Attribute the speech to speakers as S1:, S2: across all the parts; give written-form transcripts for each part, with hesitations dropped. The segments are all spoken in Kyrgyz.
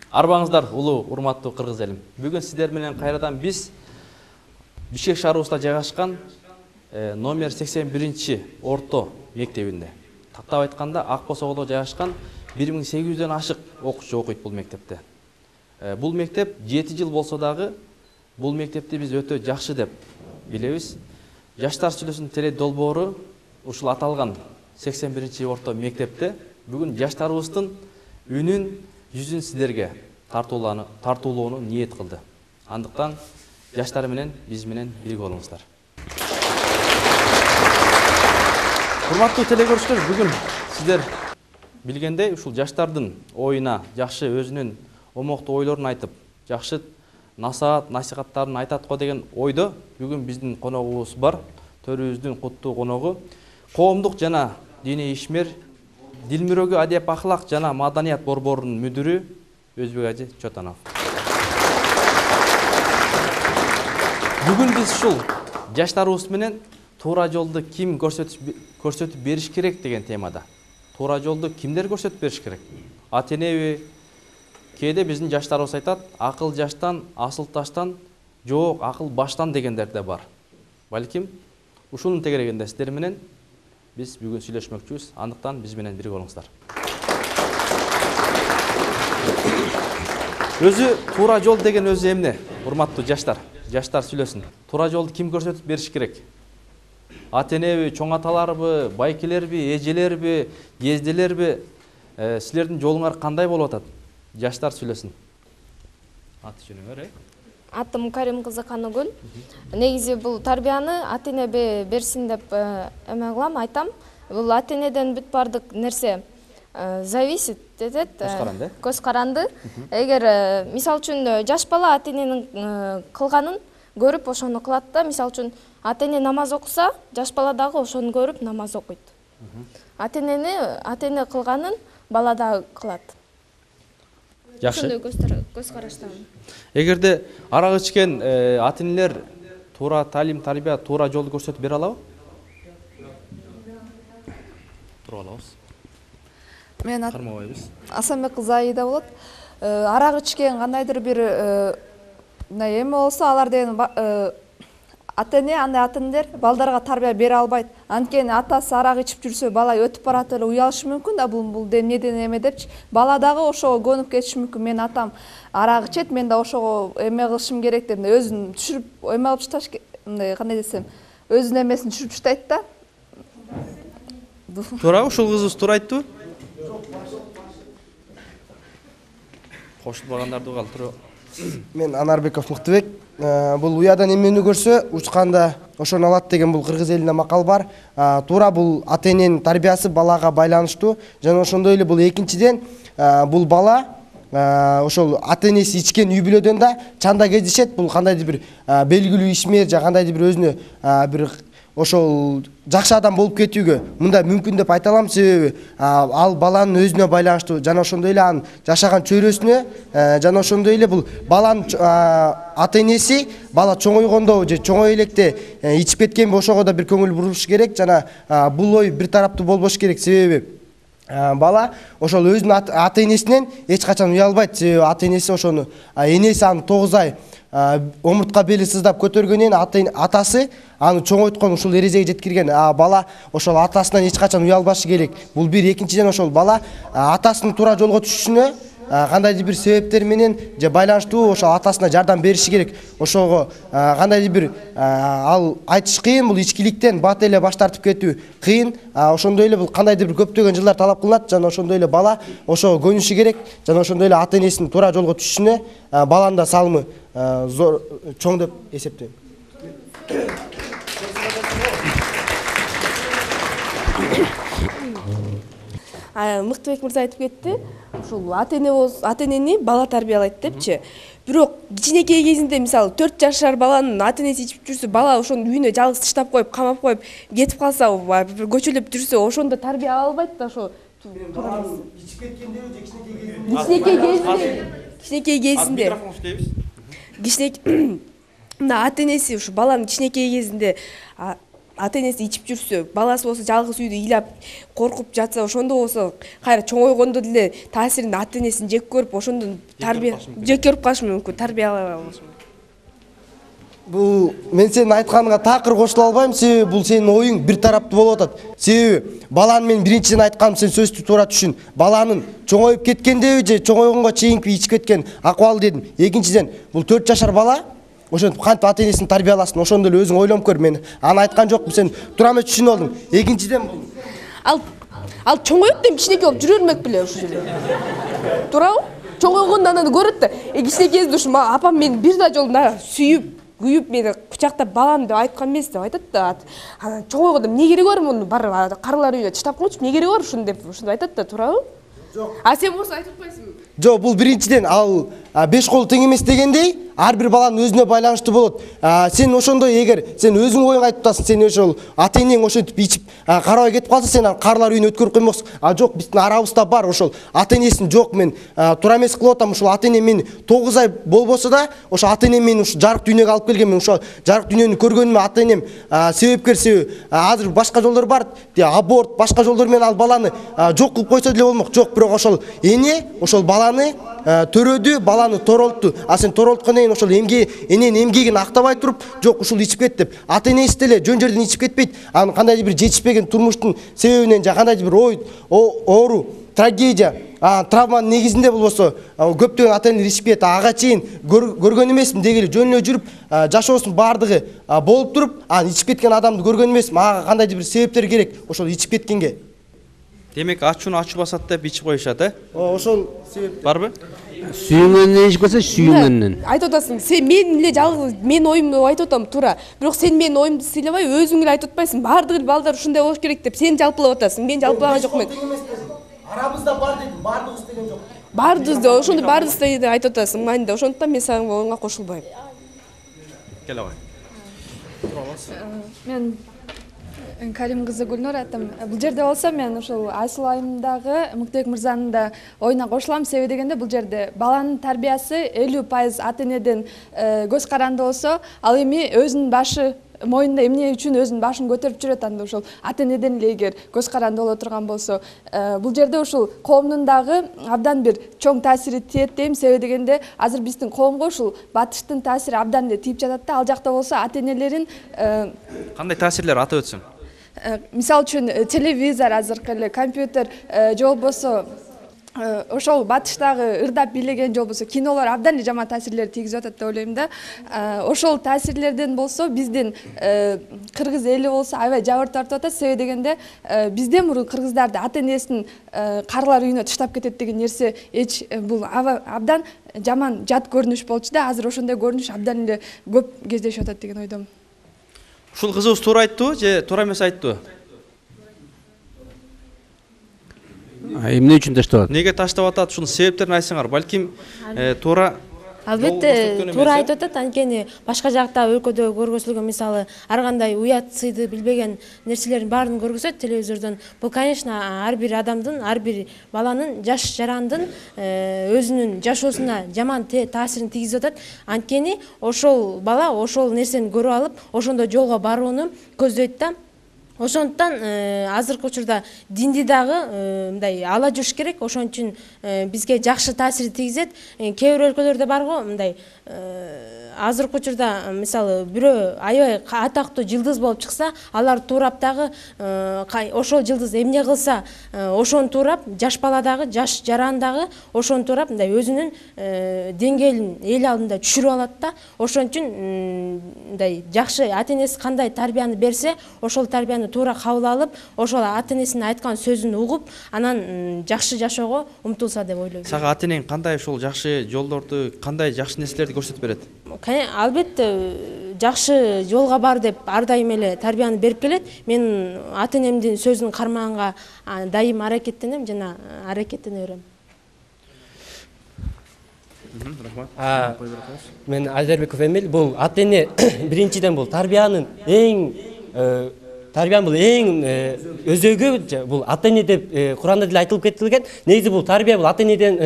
S1: Арбаңыздар улуу урматтуу кыргыз элим. Бүгүн сиздер менен кайрадан биз Бишкек шаарыбызда жайгашкан номер 81 орто мектебинде. Тактап айтканда Ак Босогодо жайгашкан 1800дөн ашык окуучу окуйт бул мектепте. Бул мектеп 7 жыл болсо дагы бул мектепти биз өтө жакшы деп билебиз. Жаштар сүйлөсүнүн теле долбоору ушул аталган 81 орто мектепте бүгүн жаштарыбыздын үнүн жүзүн сиздерге тартуулоону ниет кылды. Андыктан жаштар менен биз менен бирге болуңуздар. Урматтуу телекөрүүчүлөр, бүгүн сиздер билгендей ушул жаштардын оюна жакшы өзүнүн омоктуу ойлорун айтып, жакшы насихаттарын айтат го деген ойдо бүгүн биздин коногубуз бар. Төрүбүздүн куттуу коногу коомдук жана диний ишмер Дилмүрөгү адеп ахлак жана маданият борборунун мүдүрү Өзбек ажы Чотанов. Бүгүн биз ушул жаштарыбыз менен туура жолду ким көрсөтүп бериш керек деген темада. Туура жолду кимдер көрсөтүп бериш керек? Ата энеби? Кээде биздин жаштарыбыз айтат, акыл жаштан, асыл таштан, жок, акыл баштан дегендер да бар. Балким ушунун тегерегинде сиздер менен биз бүгүн сүйлөшмөкчүбүз. Андыктан биз менен бирге болуңуздар. Өзү туура жол деген өзү эмне? Урматтуу жаштар, жаштар сүйлөсүн. Туура жолду ким көрсөтүп бериш керек? Ата энеби, чоң аталарбы, байкелерби, эжелерби, жезделерби? Силердин жолуңар кандай болуп атат? Жаштар сүйлөсүн. Аты жөнүңөр,
S2: Атым Карим кызы Каныгүл. Негизи бул тарбияны ата эне берсин деп эме кылам, айтам. Бул ата энеден бүт бардык нерсе зависит этет. Көз каранды. Эгер мисал үчүн жаш бала ата эненин кылганын көрүп ошону кылат да. Мисал үчүн ата эне намаз окуса, жаш бала дагы ошону көрүп намаз окуйт. Ата эне кылганын бала дагы кылат.
S1: Жакшы.
S2: Көз караштамын.
S1: Эгерде арак ичкен ата энелер туура талим, тарбия, туура жолду көрсөтүп бере алабы? Туруп алабыз.
S3: Мен
S1: кармабайбыз.
S3: Асанбек кызы Аида болот. Арак ичкен кандайдыр бир эме болсо, алар деген ата эне, андай ата энелер балдарга тарбия бере албайт. Анткени атасы арак ичип жүрсө, бала өтүп барат эле уялышы мүмкүн да, бул эмнеден эме депчи. Бала дагы ошого көнүп кетиши мүмкүн. Мен атам арак ичет, мен да ошого эме кылышым керек деп, өзүн түшүрүп эме алып ташташ, мындай кандай десем, өзүнүн эмесин түшүрүп таштайт да.
S1: Туурабы, ушул кызыбыз туура айтты? Кошулбагандарды калтырып.
S4: Мен Анарбеков Мыктыбек. Бул уядан эмени көрсө, учканда ошону алат деген бул кыргыз элинде макал бар. Туура бул ата эненин тарбиясы балага байланыштуу. Жана ошондой эле бул экинчиден бул бала ошол ата энеси ичкен үй бүлөдөн да чанда кездешет. Бул кандайдыр бир белгилүү ишмер же кандайдыр бир өзүнө бир ошол жакшы адам болуп кетүүгө мындай мүмкүн деп айта алам. Себеби ал баланын өзүнө байланыштуу, жана ошондой эле анын жашаган чөйрөсүнө, жана ошондой эле бул баланын ата энеси бала чоңойгондо же чоңой электе ичип кеткенби ошого да бир көңүл буруш керек. Жана бул ой бир тараптуу болбош керек. Себеби бала ошол өзүнүн ата энесинен эч качан уялбайт. Себеби ата энеси ошону, энеси аны 9 ай омуртка бели сыздап көтөргөндөн атасы аны чоңойткон, ушул эрежеге жеткирген. Бала ошол атасынан эч качан уялбашы керек. Бул бир. Экинчиден ошол бала атасынын туура жолго түшүшүнө кандайдыр бир себептер менен же байланыштуу ошол атасына жардам бериши керек. Ошого кандайдыр бир ал айтыш кыйын, бул ичкиликтен бат эле баш тартып кетүү кыйын. Ошондой эле бул кандайдыр бир көптөгөн жылдар талап кылынат. Жана ошондой эле бала ошого көнүшү керек. Жана ошондой эле ата энесинин туура жолго түшүшүнө баланын да салымы зор чоң деп эсептейм.
S5: Мыктыбек мырза айтып кетти. Ушул ата энени бала тарбиялайт депчи. Бирок кичинекей кезинде, мисалы 4 жашар баланын ата энеси ичип жүрсө, бала ошону үйүнө жалгыз таштап коюп, камап коюп кетип калса, бир көчөлөп жүрсө, ошондо тарбия ала албайт да. Ошо
S4: ичип кеткендеби же
S5: кичинекей кезинде. Мына ата энеси ушу баланын кичинекей кезинде ата энеси ичип жүрсө, баласы болсо жалгыз үйдө ыйлап коркуп жатса, ошондо болсо кайра чоңойгондо деле таасирин ата энесин жек көрүп, ошондон тарбия жек көрүп калышы мүмкүн, тарбиялай алышы мүмкүн.
S4: Бул мен сенин айтканыңа такыр кошула албайм, себеби бул сенин оюң бир тараптуу болуп атат. Себеби баланы мен биринчиден айтканым, сен сөздү туура түшүн. Баланын чоңоюп кеткендеби же чоңойгонго чейинки ичип кеткен акыбалы дедим. Экинчиден, бул 4 жашар бала ошентип кантип ата энесин тарбияласын, ошондо эле өзүң ойлонуп көр. Мен аны айткан жокмун, сен туура эмес түшүнүп алдың. Экинчиден бул
S5: ал чоңоюп да кичинекей болуп жүрө бермек беле ушул жерде. Туурабы? Чоңойгондо анан көрөт да, кичинекейде ушу апам мени бир да жолу сүйүп күйүп мени кучактап балам деп айткан эмес деп айтат да. Анан чоңойгондо эмне кереги бар муну барып карылар үйүнө таштап койчу, эмне кереги бар ушуну деп ушуну айтат да, туурабы? Жок. А сен болсо айтып атпайсыңбы?
S4: Жок, бул биринчиден ал 5 колу тең эмес дегендей, ар бир баланын өзүнө байланыштуу болот. Сен ошондой эгер сен өзүң оюңду айтып атасың, сен ошол ата энең ошентип ичип карабай кетип калса, сен аны карылар үйүнө өткөрүп коймоксуң. Жок, биздин арабызда бар ошол ата энесин жок, мен туура эмес кылып атам, ошол ата энем мени 9 ай болбосо да, ошо ата энем мени ушу жарык дүйнөгө алып келген, мен ошо жарык дүйнөнү көргөнүмө ата энем себепкер. Себеби азыр башка жолдор бар, аборт, башка жолдор менен ал баланы жок кылып койсо деле болмок. Жок, бирок ошол эне ошол баланы төрөдү, баланы торолтту. А сен торолткондон кийин ошол эненин эмгегин актабай туруп, жок ушул ичип кет деп, ата энеси деле жөн жерден ичип кетпейт. Анын кандайдыр бир жетишпеген турмуштун себебинен же кандайдыр бир оору, трагедия, травманын негизинде болбосо көптөгөн ата энелер ичип кетет. Ага чейин көргөн эмесмин, деги эле жөн эле жүрүп жашоосунун баардыгы болуп туруп, ичип кеткен адамды көргөн эмесмин. Ага кандайдыр бир себептер керек ошол ичип кеткенге.
S1: Демек ачууну ачуу басат деп ичип коюшат,
S4: Ошол себеп
S1: барбы?
S6: Сүйүнгөндөн ичип кетсе, сүйүнгөндөн.
S5: Айтып атасың, сен мен эле жалгыз мен оюмду айтып атам, туура. Бирок сен менин оюмду сыйлабай, өзүң эле айтып атпайсың. Баардык балдар ушундай болуш керек деп сен жалпылап атасың. Мен жалпылаган жокмун.
S4: Арабызда бар дедим, бардыгыбыз деген жок.
S5: Бардыгыбызда ошондо бардыгыбызда деп айтып атасың. Майында ошондуктан мен сага оюңа кошулбайм.
S1: Кел абай.
S3: Мен Карим кызы Гүлнур атам. Бул жерде болсо мен ушул Айсыл айымдагы Мыктыбек мырзанын да оюна кошулам. Себеби дегенде бул жерде баланын тарбиясы 50% ата энеден көз каранды болсо, ал эми өзүнүн башы моюнда эмне үчүн өзүнүн башын көтөрүп жүрөт, анда ушул ата энеден эле эгер көз каранды боло турган болсо, бул жерде ушул коомдун дагы абдан бир чоң таасири тиет дейм. Себеби дегенде азыр биздин коомго ушул батыштын таасири абдан эле тийип жатат да. Ал жакта болсо ата энелерин
S1: Кандай таасирлер атап өтсөң?
S3: Мисал үчүн телевизор, азыркы эле компьютер, же болбосо ошол батыштагы ырдап бийлеген, же болбосо кинолор абдан эле жаман таасирлер тийгизип атат деп ойлойм да. Ошол таасирлерден болсо биздин кыргыз эли болсо аябай жабыр тартып атат. Себеби дегенде бизден мурун кыргыздарды ата энесин карылар үйүнө таштап кетет деген нерсе бул абдан жаман жат көрүнүш болчу да. Азыр ошондой көрүнүш абдан эле көп кездешип атат деген ойдомун.
S1: Ушул кызыбыз туура айттыбы же туура эмес айттыбы?
S6: Эмне үчүн таштап атат?
S1: Неге таштап атат? Ушунун себептерин айтсаңар, балким туура.
S7: Албетте туура айтып атат, анткени башка жакта өлкөдө көргөзүлгөн, мисалы ар кандай уят сыйды билбеген нерселердин баарын көргөзөт телевизордон. Бул конечно ар бир адамдын, ар бир баланын, жаш жарандын өзүнүн жашоосуна жаман таасирин тийгизип атат. Анткени ошол бала ошол нерсени көрүп алып, ошондой жолго барууну көздөйт да. Ошондуктан азыркы учурда динди дагы мындай ала жүрүш керек. Ошон үчүн бизге жакшы таасир тийгизет. Кээ бир өлкөлөрдө бар го мындай азыркы учурда мисалы бирөө аябай атактуу жылдыз болуп чыкса, алар туурап дагы ошол жылдыз эмне кылса, ошону туурап, жаш бала дагы, жаш жаран дагы ошону туурап мындай өзүнүн деңгээлин эл алдында түшүрүп алат да. Ошон үчүн мындай жакшы ата энеси кандай тарбияны берсе, ошол тарбияны туура кабыл алып, ошол ата энесинин айткан сөзүн угуп, анан жакшы жашоого умтулса деп ойлойм.
S1: Сага ата энең кандай ошол жакшы жолдорду, кандай жакшы нерселерди көрсөтүп берет?
S7: Албетте жакшы жолго бар деп ар дайым эле тарбияны берип келет. Мен ата энемдин сөзүн кармаганга дайым аракеттенем жана аракеттене берем.
S8: Мен Айдарбеков Эмил. Бул ата эне биринчиден бул тарбиянын эң тарбиянын бул эң өзөгү бул ата эне деп Куранда деле айтылып кетилген. Негизи бул тарбия бул ата энеден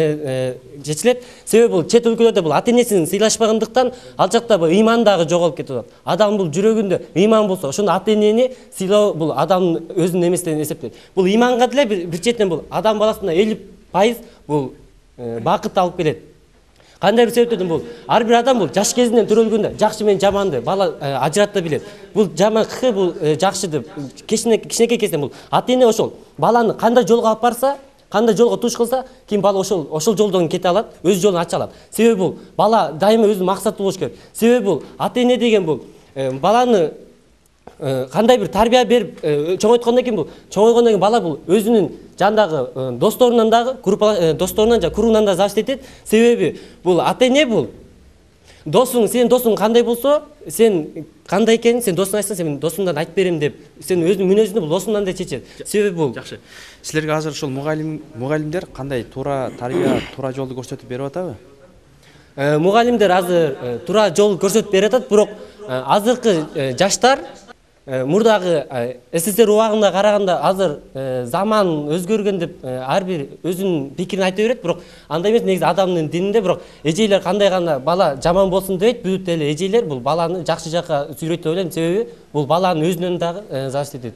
S8: чечилет. Себеби бул чет өлкөлөрдө бул ата энесин сыйлашпагандыктан ал жакта бул ыйман дагы жоголуп кетип атат. Адам бул жүрөгүндө ыйман болсо, ошондо ата энени сыйлоо бул адамдын өзүнүн эмесинен эсептелет. Бул ыйманга деле бир четинен бул адам баласына 50% бул бакыт алып келет. Кандай бир себептен бул ар бир адам бул жаш кезинен төрөлгөндө жакшы менен жаманды бала ажырата билет. Бул жаманкы бул жакшы деп кичинекей кезинен бул ата эне ошол баланы кандай жолго алып барса, кандай жолго туш кылса, кийин бала ошол жолдон кете алат, өз жолун ача алат. Себеби бул бала дайыма өзүнүн максаты болуш керек. Себеби бул ата эне деген бул баланы кандай бир тарбия берип чоңойткондон кийин бул чоңойгондон кийин бала бул өзүнүн жандагы досторунан дагы досторунан жана кругунан да зависит этет. Себеби бул ата эне бул досуң, сенин досуң кандай болсо, сен кандай экенин сен досуңа айтсаң, сен досуңдан айтып берем деп, сен өзүнүн мүнөзүндө бул досуңдан да чечет. Себеби бул
S1: жакшы. Силерге азыр ушул мугалимдер кандай туура тарбия, туура жолду көрсөтүп берип атабы?
S8: Мугалимдер азыр туура жол көрсөтүп берип атат, бирок азыркы жаштар мурдагы СССР убагына караганда азыр заман өзгөргөн деп ар бир өзүнүн пикирин айта берет, бирок андай эмес. Негизи адамдын дининде бирок эжейлер кандай гана бала жаман болсун дебейт, бүт эле эжейлер бул баланы жакшы жакка сүйрөйт деп ойлойм. Себеби бул баланын өзүнөн дагы зависит этет.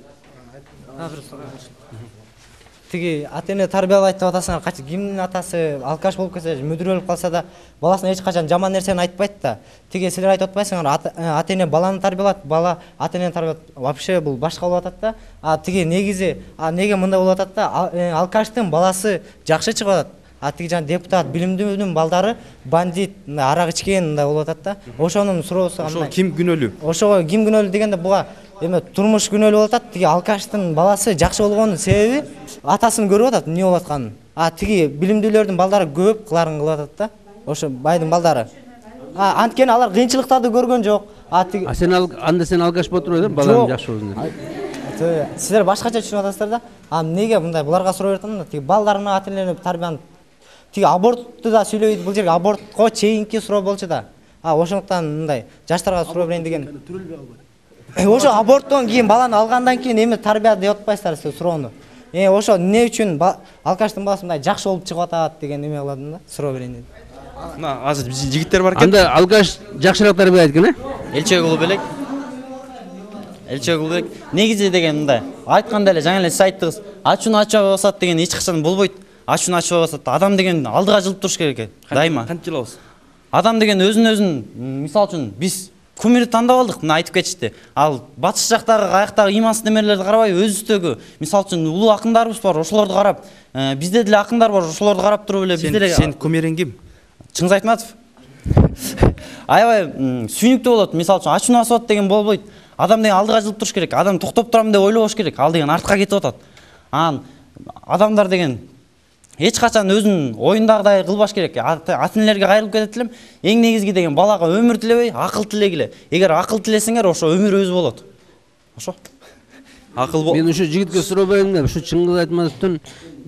S9: Тиги ата эне тарбиялайт деп атасыңар, качы кимдин атасы алкаш болуп кетсе, мүдүр болуп калса да баласына эч качан жаман нерсени айтпайт да. Тиги силер айтып атпайсыңар, ата эне баланы тарбиялат, бала ата энени тарбиялат. Вообще бул башка болуп атат да. Тиги негизи неге мындай болуп атат да? Алкаштын баласы жакшы чыгып атат. Тиги жана депутат, билимдүүнүн балдары бандит, арак ичкен мындай болуп атат да. Ошонун суроосу кандай?
S1: Ошо ким күнөөлүү?
S9: Ошого ким күнөөлүү дегенде буга эме турмуш күнөөлүү болуп атат. Тиги алкаштын баласы жакшы болгонун себеби атасын көрүп атат, эмне болуп атканын. Тиги билимдүүлөрдүн балдары көп кыларын кылып атат да. Ошо байдын балдары. Анткени алар кыйынчылыктарды көргөн жок.
S6: Сен алкаш болуп туруп элем, балам жакшы болсун деп.
S9: Силер башкача түшүнүп атасыздар да. Неге мындай буларга суроо берип атам да? Тиги балдарына ата энелерин тарбияны тиги абортту да сүйлөйт, бул жерге абортко чейинки суроо болчу да. Ошондуктан мындай жаштарга суроо берейин деген. Ошо аборттон кийин баланы алгандан кийин эме тарбия деп атпайсыздар сиз суроону. Ошо эмне үчүн алкаштын баласы мындай жакшы болуп чыгып атат деген эме кыладым да, суроо берейин дедим.
S1: Мына азыр жигиттер бар экен.
S6: Анда алкаш жакшыраак тарбия экен,
S10: Элчегул белек. Элчегул белек. Негизи деген мындай. Айтканда эле жаңы эле сиз айттыңыз. Ачууну ачабай басат деген эч качан болбойт. Ачууну ачабай басат. Адам деген алдыга жылып туруш керек экен. Дайыма.
S1: Кантип жылабыз?
S10: Адам деген өзүн мисал үчүн биз кумирди тандап алдык, мына айтып кетишти. Ал батыш жактагы каяктагы имансыз немелерди карабай, өзүбүздөгү мисал үчүн улуу акындарыбыз бар, ошолорду карап, бизде деле акындар бар, ошолорду карап туруп эле биз деле.
S1: Сен кумириң ким?
S10: Чыңгыз Айтматов. Аябай сүйүнүктүү болот. Мисал үчүн ачууну асат деген болбойт. Адам деген алдыга жылып туруш керек. Адам токтоп турам деп ойлобош керек. Ал деген артка кетип атат. Адамдар деген эч качан өзүнүн оюндагыдай кылбаш керек. Ата энелерге кайрылып кетет элем. Эң негизги деген балага өмүр тилебей, акыл тилегиле. Эгер акыл тилесеңер, ошо өмүр өзү болот. Ошо.
S6: Мен ушу жигитке суроо берейин да, ушу Чыңгыз Айтматовдун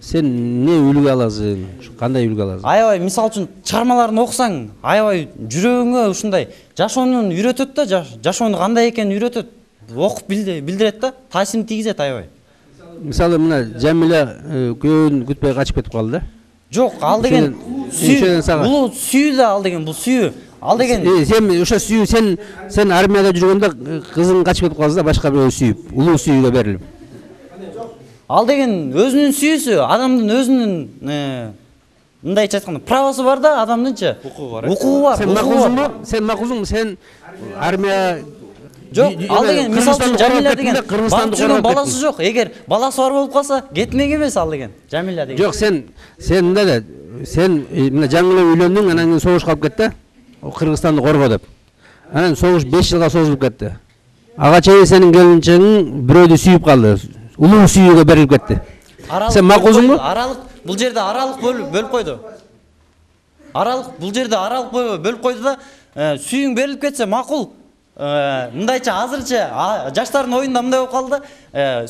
S6: сен эмне үлгү аласың? Кандай үлгү аласың?
S10: Аябай мисал үчүн чыгармаларын окусаң, аябай жүрөгүңө ушундай жашоону үйрөтөт да, жашоонун кандай экенин үйрөтөт. Окуп билдирет да, таасирин тийгизет аябай.
S6: Мисалы мына Жамиля күйөөүн күтпөй качып кетип калды да.
S10: Жок, ал деген бул сүйүү да, ал деген бул сүйүү. Ал деген
S6: сен ошо сүйүү, сен армияда жүргөндө кызың качып кетип калса да башка бирөө сүйүп, улуу сүйүүгө берилип.
S10: Ал деген өзүнүн сүйүүсү, адамдын өзүнүн мындайча айтканда правосу бар да, адамдынча. Укугу бар.
S6: Сен макулсуңбу? Сен армия
S10: жок, ал деген мисал үчүн Жамиля деген барып жүргөн баласы жок. Эгер баласы бар болуп калса, кетмек эмес ал деген. Жамиля деген.
S6: Жок, сен мындай эле, сен мына жаңы үйлөндүң, анан кийин согуш калып кетти. Кыргызстанды корго деп. Анан согуш 5 жылга созулуп кетти. Ага чейин сенин келинчегиң бирөөдү сүйүп калды. Улуу сүйүүгө берилип кетти. Сен макулсуңбу?
S10: Аралык, бул жерде аралык бөлүп койду. Бул жерде аралык бөлүп койду да, сүйүүң берилип кетсе макул. Мындайча азырча жаштардын оюнда мындай болуп калды.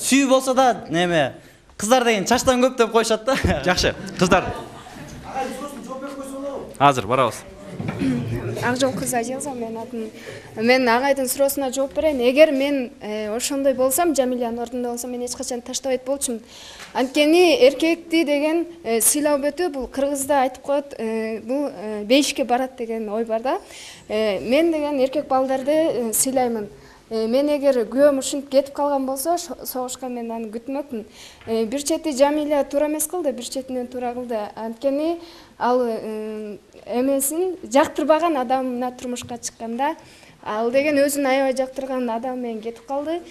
S10: Сүйүү болсо да, неме, кыздар деген чачтан көп деп коюшат да.
S1: Жакшы, кыздар. Азыр барабыз.
S2: Акжол кыз Азиза менин атым. Мен агайдын суроосуна жооп берейин. Эгер мен ошондой болсом, Жамилянын ордунда болсом, мен эч качан таштабайт болчумун. Анткени эркекти деген сыйлап өтүү бул кыргызда айтып коет, бул бейишке барат деген ой бар да. Мен деген эркек балдарды сыйлаймын. Мен эгер күйөөм ушинтип кетип калган болсо, согушка мен аны күтмөкмүн. Бир чети Жамиля туура эмес кылды, бир четинен туура кылды. Анткени ал эмесин жактырбаган адамына турмушка чыкканда, ал деген өзүн аябай жактырган адам менен кетип калды.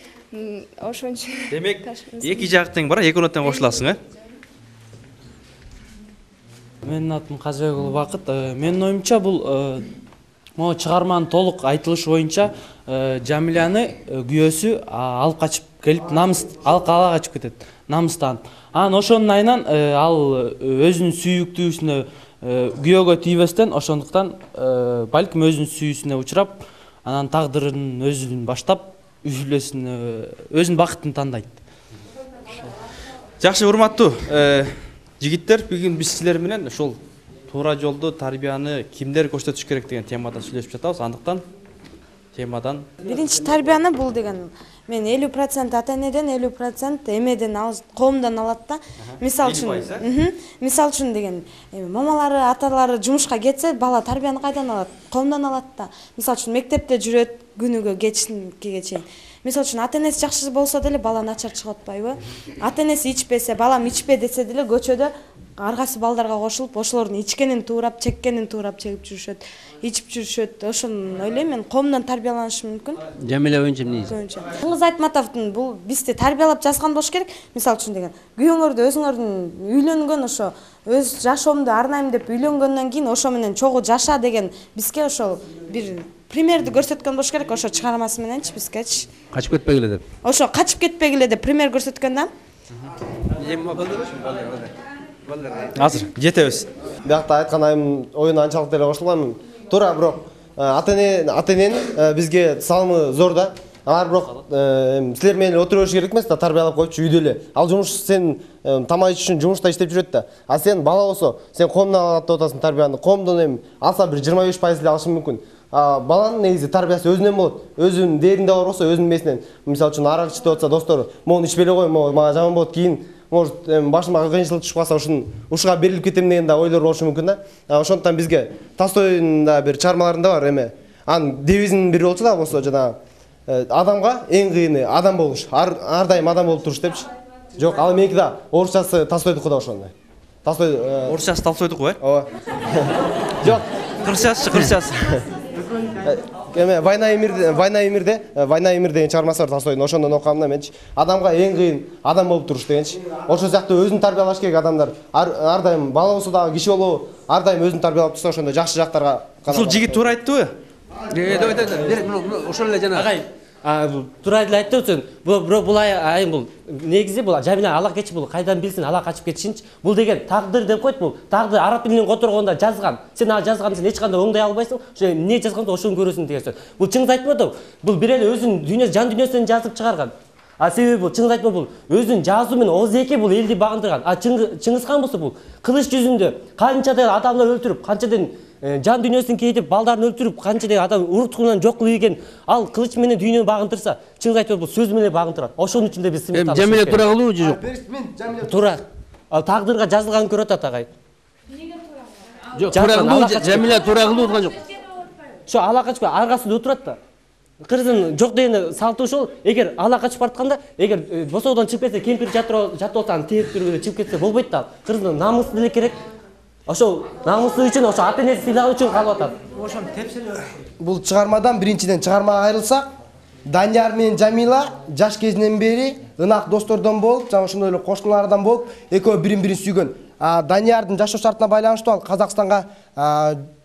S2: Ошон үчүн.
S1: Демек, эки жак тең бар, экөөнө тең кошуласың,
S11: Менин атым Казбек уулу Бакыт. Менин оюмча бул могу чыгарманын толук айтылышы боюнча Жамиляны күйөөсү алып качып келип, намыс ала качып кетет, намыстан. Анан ошонун айынан ал өзүнүн сүйүктүүсүнө күйөөгө тийбестен, ошондуктан балким өзүнүн сүйүүсүнө учурап, анан тагдырын өзүн баштап, өзүнүн бакытын тандайт.
S1: Жакшы, урматтуу жигиттер, бүгүн биз силер менен ошол туура жолду, тарбияны кимдер көрсөтүш керек деген темада сүйлөшүп жатабыз. Андыктан темадан
S7: биринчи тарбияны бул деген мен 50% ата-энеден, 50% эмеден, коомдон алат да. Мисалы үчүн деген мамалары, аталары жумушка кетсе, бала тарбияны кайдан алат? Коомдон алат да. Мисалы үчүн мектепте жүрөт күнүгө кечке чейин. Мисалы үчүн ата-энеси жакшы болсо деле бала начар чыгып атпайбы? Ата-энеси ичпесе, балам ичпе десе деле көчөдө ар кайсы балдарга кошулуп, ошолордун ичкенин туурап, чеккенин туурап чегип жүрүшөт, ичип жүрүшөт. Ошону ойлойм мен, коомдон тарбияланышы мүмкүн.
S6: Жамиля боюнча эмне
S7: дейсиз? Чыңгыз Айтматовдун бул бизди тарбиялап жазган болуш керек. Мисалы үчүн деген, күйөөңөрдү өзүңөрдүн үйлөнгөн ошо өз жашоомду арнайм деп үйлөнгөндөн кийин ошо менен чогуу жаша деген бизге ошол бир примерди көрсөткөн болуш керек, ошо чыгармасы мененчи бизгечи.
S6: Качып кетпегиле деп.
S7: Ошо качып кетпегиле деп пример көрсөткөн да.
S1: Азыр жетебиз.
S12: Биякта айткан айымдын оюна анчалык деле кошулбаймын. Туура, бирок ата-эненин бизге салымы зор да. Алар бирок силер менен отура бериш керек эмес да, тарбиялап койчу үйдө эле. Ал жумуш сен тамак ич үчүн жумушта иштеп жүрөт да. А сен бала болсо, сен коомдон алат деп атасың тарбияны. Коомдон эми алса бир 25% эле алышы мүмкүн. Баланын негизи тарбиясы өзүнөн болот. Өзүнүн дээринде бар болсо, өзүнүн месинен. Мисалы үчүн арак ичип атса достору, могу ичпей эле кой, мага жаман болот, кийин может башыма кыйынчылык түшүп калса ушуга берилип кетем деген да ойлор болушу мүмкүн да. Ошондуктан бизге Толстойдун да бир чыгармаларында бар эме. Анын девизинин бири болчу да, болсо жана адамга эң кыйыны адам болуш, ар дайым адам болуп туруш депчи. Жок, ал меники да орусчасы Толстойдуку да ошондой. Толстой
S1: орусчасы Толстойдуку,
S12: Ооба. Жок,
S1: кырсчасы.
S12: Эме Война и мир деген чыгармасы бар Толстойдун, ошондон окугам да менчи. Адамга эң кыйын адам болуп туруш дегенчи. Ошол сыяктуу өзүн тарбиялаш керек адамдар. Ар дайым бала болсо дагы, киши болобу, ар дайым өзүн тарбиялап турса, ошондо жакшы жактарга.
S1: Ушул жигит туура айтты.
S6: Ошол эле жана.
S8: Туура эле айтты сен. Бул айым бул негизи бул Жамиля ала кечип бул кайдан билсин ала качып кетишинчи. Бул деген тагдыр деп койт, бул тагдыр араб тилинен которгондо жазган. Сен ала жазганды сен эч кандай оңдой албайсың. Ошо эмне жазганды ошону көрөсүң деген сөз. Бул Чыңгыз Айтматов, бул бир эле өзүнүн дүйнөсү, жан дүйнөсүн жазып чыгарган. Себеби бул Чыңгыз Айтматов бул өзүнүн жазуу менен озеки бул элди багындырган. Чыңгыз хан болсо бул кылыч жүзүндө канчадан адамдар өлтүрүп, канчадан жан дүйнөсүн кейтип, балдарын өлтүрүп, канчадан адам уруткунан жок кылып ийген, ал кылыч менен дүйнөнү багындырса, Чыңгыз Айтматов бул сөз менен багындырат. Ошонун үчүн да биз сыймыктап.
S6: Жамиля туура кылуу же жок?
S8: Туура. Ал тагдырга жазылганын көрүп атат агай.
S6: Жок, туура кылуу, Жамиля туура кылуу болгон жок.
S8: Ошо ала качып аргасында отурат да. Кырдын жок дегени салтı ошол, эгер ала качып баратканда, эгер босоодон чыгып кетсе, кемпир жатып атса, аны тээп түрүп чыгып кетсе болбойт да. Кырдын намысы деле керек. Ошол намысы үчүн, ошо ата-энеси сыйлаган үчүн калып атат.
S9: Ошону тепселеп.
S4: Бул чыгармадан биринчиден чыгармага айрылсак, Данияр менен Жамила жаш кезинен бери ынак достордон болуп, жана ошондой эле кошуналардан болуп, экөө бирин-бирин сүйгөн. Даниярдын жашоо шартына байланыштуу ал Казакстанга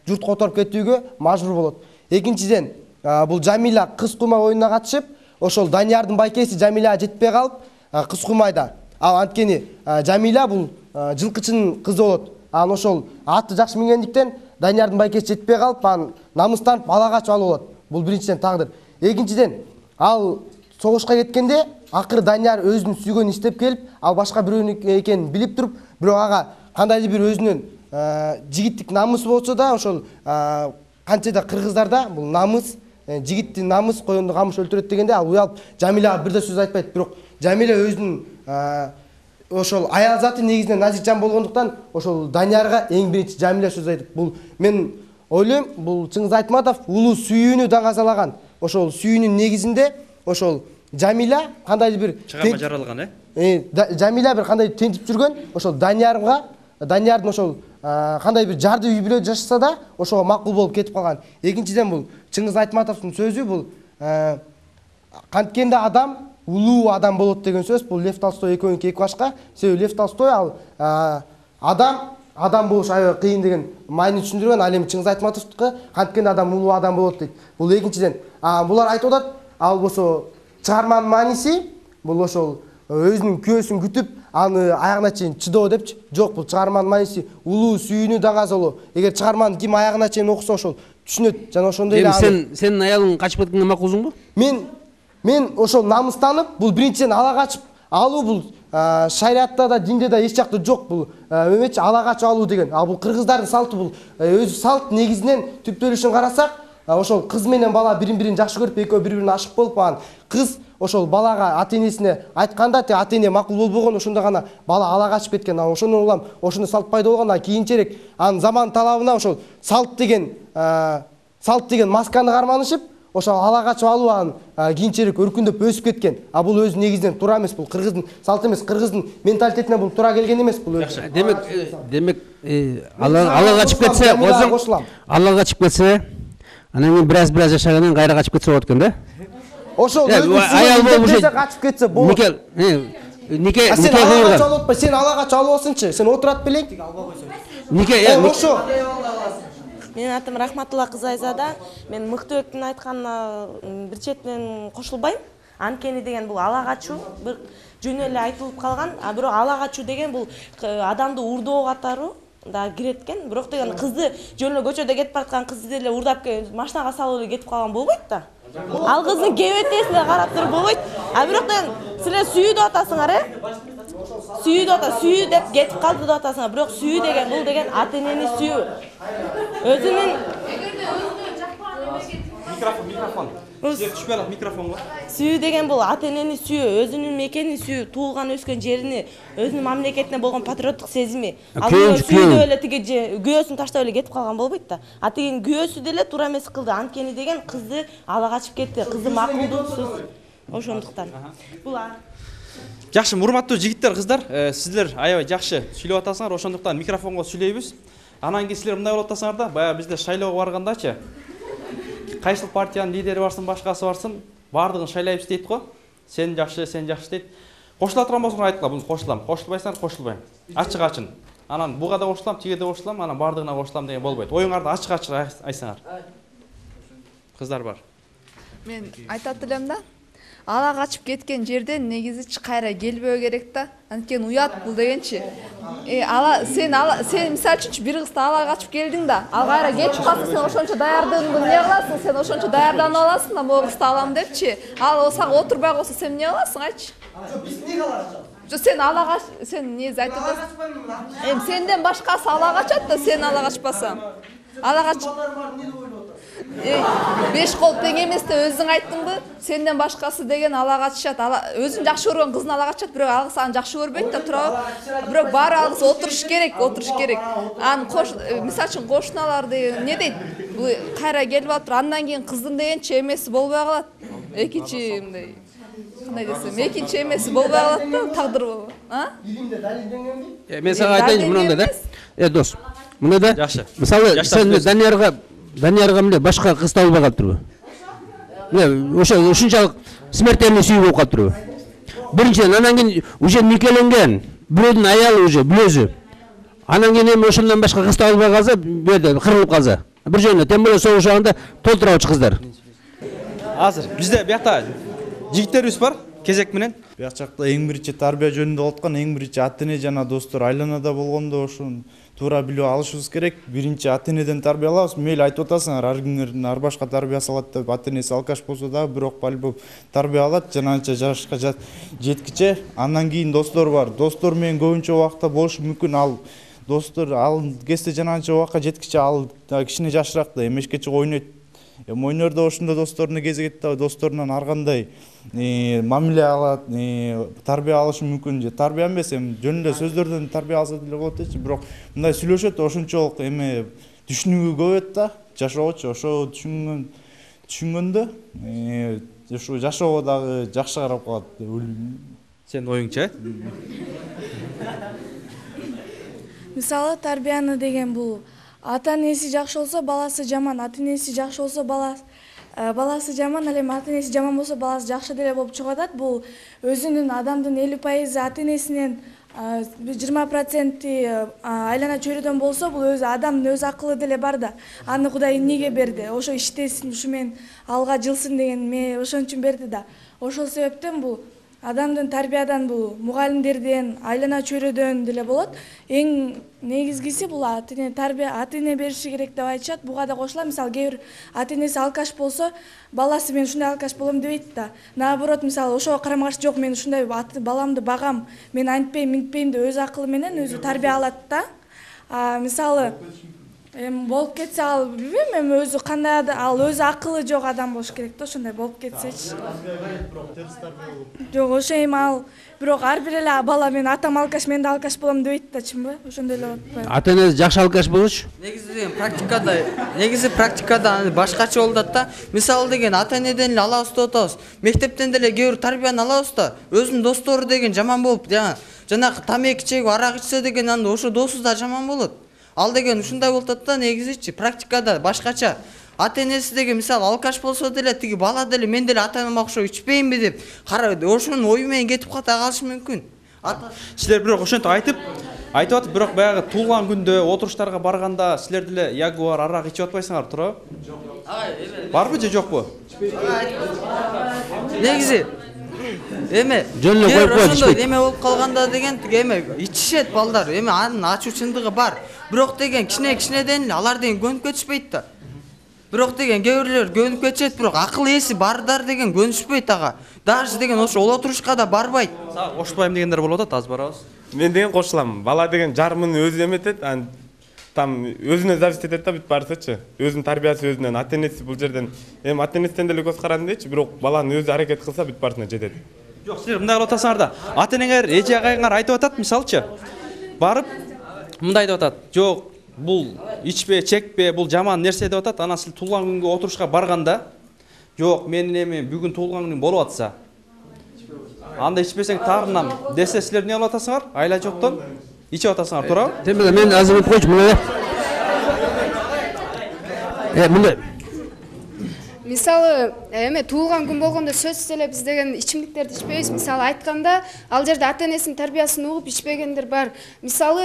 S4: журт которуп кетүүгө мажбур болот. Экинчиден, бул Жамила кыз куйма оюнуна катышып, ошол Даниярдын байкеси Жамиляга жетпей калып, кыз куймайда. Ал анткени Жамиля бул жылкычынын кызы болот. Анан ошол атты жакшы мингендиктен Даниярдын байкеси жетпей калып, анан намыстанып бала качып алып болот. Бул биринчиден тагдыр. Экинчиден, ал согушка кеткенде акыры Данияр өзүнүн сүйгөнүн иштеп келип, ал башка бирөөнү экенин билип туруп, бирок ага кандайдыр бир өзүнүн жигиттик намысы болсо да, ошол канчада кыргыздарда бул намыс, жигиттин намыс коёнду камыш өлтүрөт дегенде ал уялып Жамиляга бир да сөз айтпайт. Бирок Жамиля өзүнүн ошол аял заты негизинен назик жан болгондуктан ошол Даниярга эң биринчи Жамиля сөз айтып, бул мен ойлойм, бул Чыңгыз Айтматов улуу сүйүүнү даңазалаган. Ошол сүйүүнүн негизинде ошол Жамиля кандайдыр бир
S1: чыгарма жаралган,
S4: Жамиля бир кандай тентип жүргөн, ошол Даниярдын ошол кандай бир жарды үй бүлө жашаса да ошого макул болуп кетип калган. Экинчиден бул Чыңгыз Айтматовдун сөзү бул канткенде адам улуу адам болот деген сөз. Бул Лев Толстой экөөнүнкү эки башка. Себеби Лев Толстой ал адам болуш аябай кыйын деген маани түшүндүргөн. Ал эми Чыңгыз Айтматовдуку канткенде адам улуу адам болот дейт. Бул экинчиден. Булар айтып атат, ал болсо чыгарманын мааниси бул ошол өзүнүн күйөөсүн күтүп, аны аягына чейин чыдоо депчи. Жок, бул чыгарманын мааниси улуу сүйүүнү даңазалоо. Эгер чыгарманы ким аягына чейин окуса ошол түшүнөт. Жана ошондой эле
S6: сенин аялың качып кеткенге макулсуңбу?
S4: Мен ошол намыстанып, бул биринчиден ала качып алуу бул шариатта да, динде да эч жакта жок бул эмечи ала качып алуу деген. Бул кыргыздардын салты, бул өзү салт негизинен түптөлүшүн карасак, ошол кыз менен бала бири-бирин жакшы көрүп, экөө бири-бирине ашык болуп, анан кыз ошол балага ата-энесине айтканда, ата-эне макул болбогон, ошондо гана бала ала качып кеткен. Ошондон улам ошондой салт пайда болгон. Кийинчерээк анын заман талабына ошол салт деген масканы карманышып, ошол ала качып алуу анын кийинчерээк өркүндөп өсүп кеткен. Бул өзү негизинен туура эмес, бул кыргыздын салты эмес, кыргыздын менталитетине бул туура келген эмес бул.
S6: Демек ала качып кетсе, ала качып кетсе, анан кийин бир аз жашагандан кийин кайра качып кетсе болот экен да?
S4: Ошол аял болуп качып кетсе болот. Нике сен ала качып алып атпай, сен ала качып албасынчы. Сен отурат белең. Ошо.
S13: Менин атым Рахматулла Кызайзада. Мен Мыктыбектин айтканына бир четинен кошулбайм. Анткени деген бул ала качуу бир жөн эле айтылып калган. Бирок ала качуу деген бул адамды урдоо катары да кирет экен. Бирок деген кызды жөн эле көчөдө кетип бараткан кызды деле урдап машинага салып эле кетип калган болбойт да. Ал кыздын кебетесине карап туруп болбойт. Бирок деген силер сүйүү деп атасыңар, сүйүү деп ата, сүйүү деп кетип калды деп атасыңар. Бирок сүйүү деген бул деген ата-энени сүйүү. Өзүнүн
S1: микрофон. Түшпөй алат микрофонго.
S13: Сүйүү деген бул ата-энени сүйүү, өзүнүн мекенин сүйүү, туулган өскөн жерини, өзүнүн мамлекетине болгон патриоттук сезими. Ал сүйүү эле тиги күйөөсүн таштап эле кетип калган болбойт да. Тигин күйөөсү деле туура эмес кылды. Анткени деген кызды ала качып кетти. Кызды макулдуксуз. Ошондуктан. Бул
S1: Жакшы, урматтуу жигиттер, кыздар, сиздер аябай жакшы сүйлөп атасыңар, ошондуктан микрофонго сүйлөйбүз. Анан кийин силер мындай болуп атасыңар да, баягы бизде шайлоого баргандачы, кайсыл партиянын лидери барсын, башкасы барсын, баардыгын шайлайбыз дейт го. Сен жакшы дейт. Кошула турган болсоңор айткыла, бул кошулам. Кошулбайсыңар, кошулбайм. Ачык-ачын. Анан буга да кошулам, тиге да кошулам, анан баардыгына кошулам деген болбойт. Оюңарды ачык-ачык айтсаңар. Кыздар бар.
S3: Мен айтат элем да. Ала качып кеткен жерден негизи кайра келбөө керек да. Анткени уят бул дегенчи. Сен мисалы үчүн бир кызды ала качып келдиң да, ал кайра кетип калса, сен ошончо даярдыгыңды эмне кыласың? Сен ошончо даярданып аласың да, могу кызды алам депчи. Ал сага отурбай койсо сен эмне кыласың, айтчы?
S4: Биз эмне кылабыз?
S3: Сен ала кач, сен негизи айтып атасың. Сенден башкасы ала качат да, сен ала качпасаң. Ала кач. 5 кол тең эмес деп өзүң айттыңбы? Сенден башкасы деген ала качышат. Өзүн жакшы көргөн кызын ала качат, бирок ал кыз аны жакшы көрбөйт да, туурабы? Бирок баары ал кыз отуруш керек. Аны мисалы үчүн кошуналар деген эмне дейт? Бул кайра келип атыр, андан кийин кыздын дегенчи эмеси болбой калат. Экинчи мындай кандай десем, экинчи эмеси болбой калат да, тагдыр болбой.
S4: Илимде далилденгенби?
S6: Мен сага айтайынчы мындай да. Дос, мындай да.
S1: Жакшы.
S6: Мисалы, сен Даниярга эмне башка кыз табылбай калыптырбы? Ошо ушунчалык смертельный сүйүү болуп калыптырбы? Биринчиден, анан кийин уже никеленген, бирөөдүн аялы уже бүлөзү. Анан кийин эми ошондон башка кыз табылбай калса, бу жерде кырылып калса. Бир жөнүнө тем более согуш убагында толтурабычы кыздар.
S1: Азыр бизде биякта жигиттерибиз бар, кезек менен.
S14: Бияк жакта эң биринчи тарбия жөнүндө болуп аткан, эң биринчи ата-эне жана достор айланада болгондо ошону туура билип алышыбыз керек. Биринчи ата-энеден тарбиялабыз. Мейли айтып атасыңар, ар кимдердин ар башка тарбия салат деп, ата-энеси алкаш болсо да, бирок по-любому тарбия алат, жана анча жашка жеткиче. Андан кийин достор бар. Достор менен көбүнчө убакта болушу мүмкүн. Ал достор ал кезде жанагынча убакка жеткиче ал кичине жашыраак да эмешкече ойнойт. Ойнордо ошондо досторунун кезигет да, досторунан ар кандай мамиле алат, тарбия алышы мүмкүн. Же тарбия эмес, жөн эле сөздөрдөн тарбия алса деле болот дечи, бирок мындай сүйлөшөт, ошончолук түшүнүгү көп да, жашоочу. Ошо түшүнгөндө ушу жашоого дагы жакшы карап калат деп ойлойм.
S1: Сенин оюңча?
S15: Мисалы тарбияны деген бул ата энеси жакшы болсо баласы жаман, ата энеси жакшы болсо баласы жаман, ал эми ата энеси жаман болсо баласы жакшы деле болуп чыгып атат. Бул өзүнүн адамдын 50% ата энесинен 20% айлана чөйрөдөн болсо, бул өзү адамдын өз акылы деле бар да. Аны Кудай эмнеге берди? Ошо иштесин, ушу менен алга жылсын деген ме ошон үчүн берди да. Ошол себептен бул адамдын тарбиядан, бул мугалимдерден, айлана чөйрөдөн деле болот. Эң негизгиси бул ата эне тарбия, ата эне бериши керек деп айтышат. Буга да кошулам. Мисалы кээ бир ата энеси алкаш болсо, баласы мен ушундай алкаш болом дебейт да. Наоборот, мисалы ошого карама каршы жок, мен ушундай баламды багам, мен антпейм, минтпейм деп өз акылы менен өзү тарбия алат да. Мисалы болуп кетсе, ал билбейм, эми өзү кандай ал өзү акылы жок адам болуш керек да, ошондой болуп кетсечи. Жок, ошо эми ал бирок ар бир эле бала мен атам алкаш, мен да алкаш болом дебейт да, чынбы? Ошондой эле болуп атпайбы?
S6: Ата энеси жакшы алкаш болчу.
S16: Негизи практикада башкача болуп атат да. Мисалы деген ата энеден эле алабыз деп атабыз. Мектептен деле кээ бир тарбияны алабыз да. Өзүнүн достору деген жаман болуп, жанагы тамеки чегип, арак ичсе деген анда ошо досу да жаман болот. Ал деген ушундай болуп атат да, негизичи практикада башкача. Ата энеси деген мисалы алкаш болсо деле, тиги бала деле мен деле ата энеме окшоп ичпеймби деп ошонун ою менен кетип ката калышы мүмкүн.
S1: Силер бирок ошентип айтып атып, бирок баягы туулган күндө отуруштарга барганда силер деле ягуар, арак ичип атпайсыңар, туурабы? Барбы же жокпу?
S16: Негизи
S6: жөн эле коюп коет ичпейт.
S16: Эме болуп калганда деген эме ичишет балдар, эми анын ачуучундугу бар. Бирок деген кичинеден эле алар деген көнүп кетишпейт да. Бирок деген кээ бирлер көнүп кетишет, бирок акыл ээси бардар деген көнүшпөйт ага. Даже деген ошо олотурушка да барбайт.
S1: Кошулбайм дегендер болуп атат, аз барабыз.
S17: Мен деген кошулам. Бала деген жарымын өзү эметет, там өзүнө зависит этет да бүт баарысычы. Өзүнүн тарбиясы өзүнөн, ата энеси бул жерден эми ата энесинен деле көз карандычы, бирок баланын өзү аракет кылса бүт баарысына жетет.
S1: Жок, силер мындай кылып атасыңар да. Ата энеңер, эже агайыңар айтып атат, мисалчы. Барып мындай деп атат. Жок, бул ичпе, чекпе, бул жаман нерсе деп атат. Анан сиз туулган күнгө отурушка барганда, жок, менин эми бүгүн туулган күнүм болуп атса, анда ичпесең таарынам десе, силер эмне кылып атасыңар? Айла жоктон ичип атасыңар, туурабы?
S6: Демек мен азыр айтып койчу, мына мындай.
S2: Мисалы, эме туулган күн болгондо сөзсүз эле биз деген ичимдиктерди ичпейбиз. Мисалы айтканда, ал жерде ата энесинин тарбиясын угуп ичпегендер бар. Мисалы,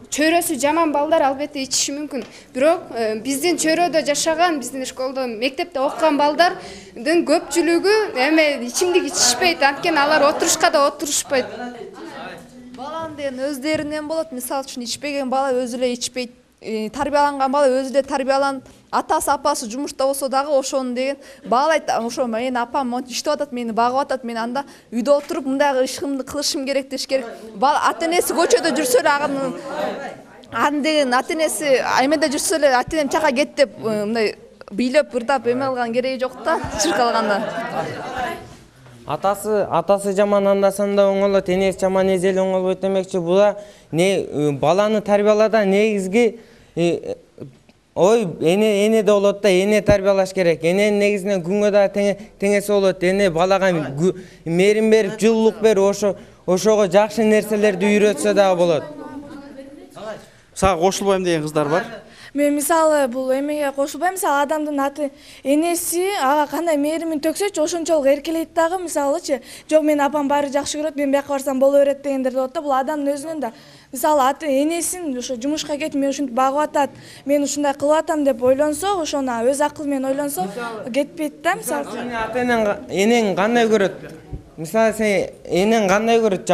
S2: чөйрөсү жаман балдар албетте ичиши мүмкүн. Бирок биздин чөйрөдө жашаган, биздин школдо, мектепте окуган балдардын көпчүлүгү эме ичимдик ичишпейт, анткени алар отурушка да отурушпайт.
S3: Баланын деген өздөрүнөн болот. Мисалы үчүн ичпеген бала өзү эле ичпейт. Тарбияланган бала өзү эле тарбияланып, атасы апасы жумушта болсо дагы ошону деген баалайт. Ошо менин апам монтип иштеп атат, мени багып атат, мен анда үйдө отуруп мындай ишимди кылышым керек деш керек. Бала ата энеси көчөдө жүрсө эле аны деген ата энеси эмеде жүрсө эле ата энем чака кет деп мындай бийлеп ырдап эме кылган кереги жок да, чыркалганда.
S18: Атасы жаман анда санда оңолот, энеси жаман эзели оңолбойт демекчи. Була баланы тарбиялаада негизги ой эне да болот да, эне тарбиялаш керек. Эненин негизинен күнгө да теңеси болот. Эне балага мээрим берип, жылуулук берип, ошого жакшы нерселерди үйрөтсө дагы болот.
S1: Сага кошулбайм деген кыздар бар.
S15: Мен мисалы бул эмеге кошулбайм. Мисалы адамдын аты энеси ага кандай мээримин төксөчү ошончолук эркелейт дагы. Мисалычы, жок мен апам баары жакшы көрөт, мен бияка барсам боло берет дегендер болот да. Бул адамдын өзүнөн да. Мисалы аты энесин ошо жумушка кетип, мен ушинтип багып атат, мен ушундай кылып атам деп ойлонсо, ошону өз акылы менен ойлонсо, кетпейт да. Мисалы
S18: ата энең кандай көрөт? Мисалы сен энең кандай көрөт?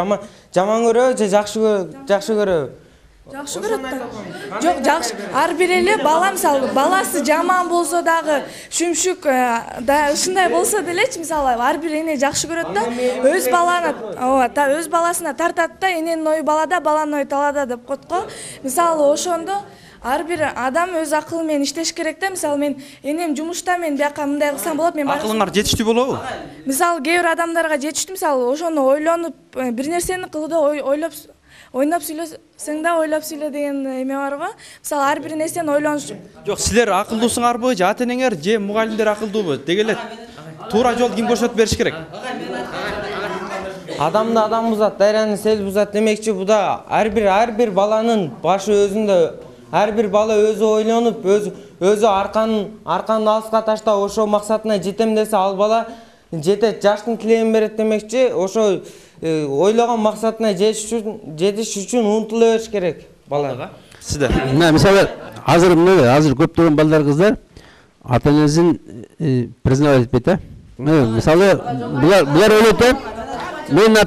S18: Жаман көрөбү же жакшы көрөбү?
S15: Жакшы көрөт да. Жок, жакшы. Ар бир эле бала мисалы баласы жаман болсо дагы, шүмшүк да ушундай болсо делечи, мисалы ар бир эне жакшы көрөт да. Өз баланы, ооба, өз баласына тартат да, эненин ою балада, баланын ою талада деп коет го. Мисалы ошондо ар бир адам өз акылы менен иштеш керек да. Мисалы мен энем жумушта, мен бияка мындай кылсам болот, мен
S1: акылыңар жетиштүү болобу?
S15: Мисалы кээ бир адамдарга жетиштүү, мисалы ошону ойлонуп бир нерсени кылууда ойлоп ойноп сүйлөсөң да ойлоп сүйлө деген эме барбы? Мисалы ар бир нерсени ойлонуш.
S1: Жок, силер акылдуусуңарбы же ата-энеңер же мугалимдер акылдуубу? Деги эле туура жол ким көрсөтүп бериш керек?
S18: Адамды адам бузат, дайраны сел бузат демекчи, буда ар бир баланын башы өзүндө. Ар бир бала өзү ойлонуп, өзү арканды алыска таштап ошо максатына жетем десе, ал бала жетет, жаштын тилегин берет демекчи. Ошо ойлогон максатына жетиш үчүн умтула бериш керек балага.
S1: Сиздер?
S6: Мисалы азыр көптөгөн балдар, кыздар ата-энесин признавать этпейт да. Мисалы булар ойлойт да, менин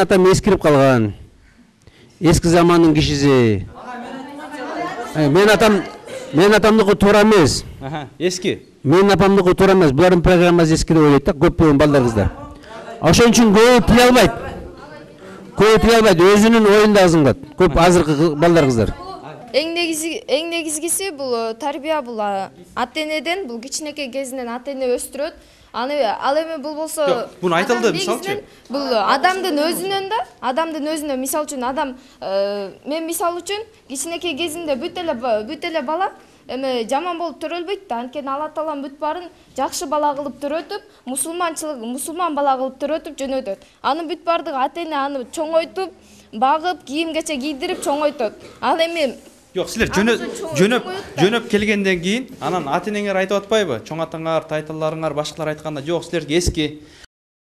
S6: атам эскирип калган. Эски замандын кишиси. Менин атамдыкы туура эмес.
S1: Эски.
S6: Менин апамдыкы туура эмес. Булардын программасы эски деп ойлойт да, көптөгөн балдар, кыздар. Ошон үчүн көбү тие албайт, өзүнүн оюн да азым кылат. Көп азыркы балдар, кыздар.
S2: Эң негизгиси бул тарбия, бул ата-энеден, бул кичинекей кезинен ата-эне өстүрөт. Ал эми бул болсо,
S1: буну айтылды, мисалчы.
S2: Бул адамдын өзүнөн, мисалы үчүн адам, мен мисалы үчүн кичинекей кезинде бүт эле бала эме жаман болуп төрөлбөйт да. Анткени Алла Таалам бүт баарын жакшы бала кылып төрөтүп, мусулман бала кылып төрөтүп жөнөтөт. Анын бүт бардыгы ата-эне аны чоңойтуп, багып, кийим-кече кийдирип чоңойтот. Ал эми
S1: Жок, силер жөнөп келгенден кийин анан ата-энеңер айтып атпайбы? Чоң атаңар, тайталарыңар, башкалар айтканда, жок, силерге эски